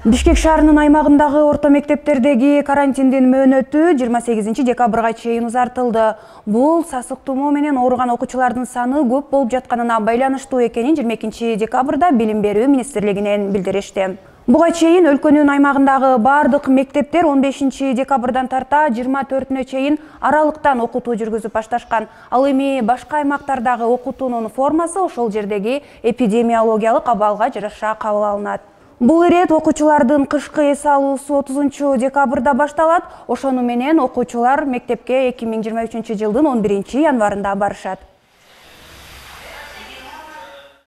Бишкек шаарынын аймагындагы орто мектептердеги карантиндин мөөнөтү 28 декабрга чейин узартылды. Бул сасык тумоо менен ооруган окуучулардын саны көп болуп жатканына байланыштуу экенин 22 декабрда Билим берүү министрлигинен билдиришти. Буга чейин өлкөнүн аймагындагы бардык мектептер 15 декабрдан тарта 24-нө чейин аралыктан окутуу жүргүзүп башташкан. Ал эми башка аймактардагы окутуунун формасы ошол жердеги эпидемиологиялык абалга жараша кабыл алынат. Бул ирет окуучулардын кышкы эс алуусу 30 декабрда башталат. Ошону менен окуучулар мектепке 2023 жылдын 11 январында барышат.